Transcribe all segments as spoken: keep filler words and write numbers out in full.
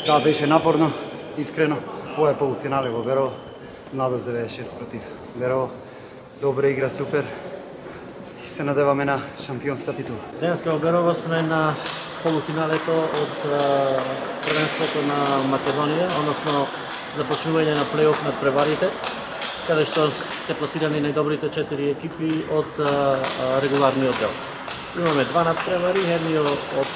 Да, беше напорно, искрено. Ова е полуфинале во Берово. Младост деветдесет и шест против Берово. Добра игра, супер. И се надеваме на шампионска титула. Денеска во Берово сме на полуфиналето од првенството на Македонија, односно започнување на плейоф над преварите, каде што се пласирани најдобрите четири екипи од регуларниот дел. Имаме два надпревари, едниот од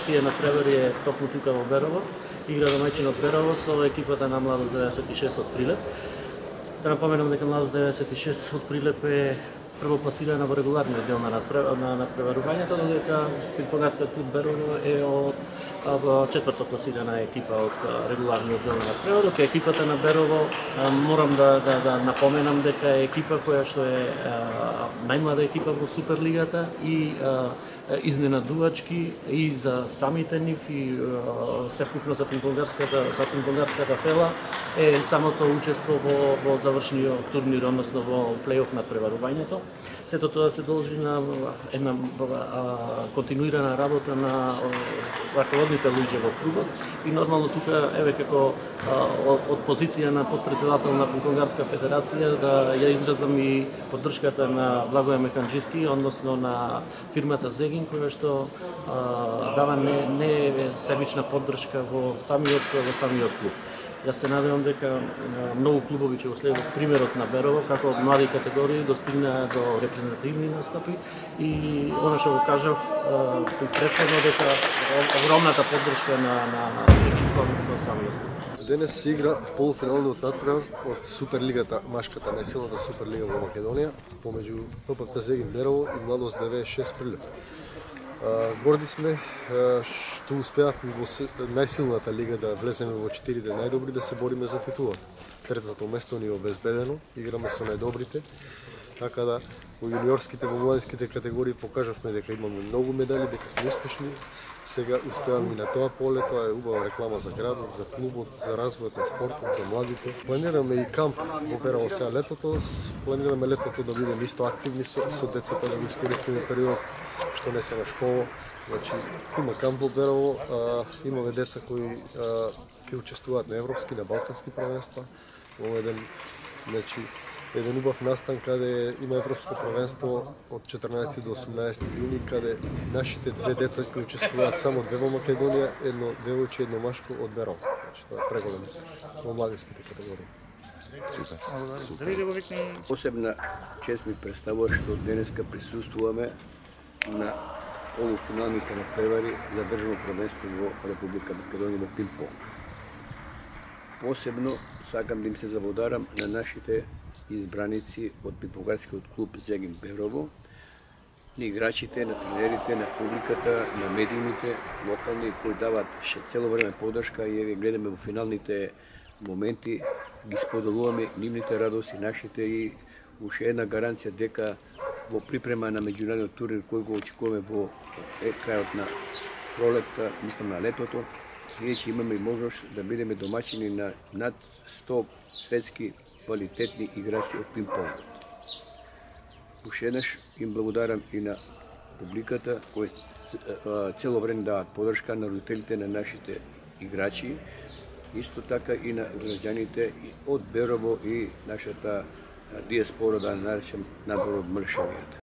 тие надпревари е токму тука во Берово, игра домаќин од Берово со екипата на Младост деветдесет и шест од Прилеп. Да напоменам дека Младост деветдесет и шест од Прилеп е првопласирана во регуларниот дел на надпреварувањето, додека Пинг-понгарскиот клуб Берово е од четврто пласирана екипа од регуларниот дел на надпреварот. Екипата на Берово, морам да, да, да напоменам дека е екипа која што е најмлада екипа во Суперлигата и изненадувачки и за самите нив и сепкупно за Пинг-понгарската за Пинг-понгарската фела е самото учество во, во завршниот турнир, односно во плейоф над преварувањето. Сето тоа се должи на една континуирана работа на раководните луѓе во клубот и нормално тука еве како од позиција на подпредседател на Пинг-понгарска федерација да ја изразам и поддршката на Благоје Механџиски, односно на фирмата Зегин, која што а, дава не, не себична поддршка во самиот во самиот клуб. Јас се надевам дека многу клубови ќе го следат примерот на Берово, како од млади категории достигнаа до репрезентативни настапи и она што го кажав претходно дека огромната поддршка на на Зегин кон самиот клуб. Денес се игра полуфиналниот надпревар од Суперлигата, машката најсилната Суперлига во Македонија, помеѓу ППК Зегин Берово и Младост деветдесет и шест Прилеп. Горди сме што успеавме во најсилната лига да влеземе во четирите најдобри, да се бориме за титула. Третото место ни е обезбедено, играме со најдобрите, така да во јуниорските, во младинските категории покажавме дека имаме многу медали, дека сме успешни. Сега успеавме и на тоа поле, тоа е убава реклама за градот, за клубот, за развојот на спортот, за младите. Планираме и камп во Берово сега летото, планираме летото да бидеме исто активни со, со децата, да го искористиме период што не се на школа. Значи, има камп во Берово, а, имаме деца кои а, ќе учествуваат на европски, на балкански првенства. Во еден, значи, еден убав настан каде има европско првенство од четрнаесети до осумнаесети јуни, каде нашите две деца кои учествуваат само две во Македонија, едно девојче и едно машко од Берово. Значи, тоа е преголем успех во младинските категории. Посебна чест ми представува што денеска присуствуваме на полуфиналните надпревари за државно првенство во Република Македонија во пинг-понг. Посебно сакам да им се заблагодарам на нашите избраници од пинг-понгарскиот клуб Зегин Берово, на играчите, на тренерите, на публиката, на медиумите, локални, кои дават ше цело време поддршка и еве гледаме во финалните моменти, ги споделуваме нивните радости, нашите и уште една гаранција дека во припрема на меѓународниот турнир кој го очекуваме во е, крајот на пролетта, мислам на летото, ние ќе имаме можност да бидеме домаќини на над сто светски квалитетни играчи од пинг-понг. Уште еднаш им благодарам и на публиката кои цело време дават поддршка на родителите на нашите играчи, исто така и на граѓаните од Берово и нашата диаспора, да наречем надвор од Мршавијата.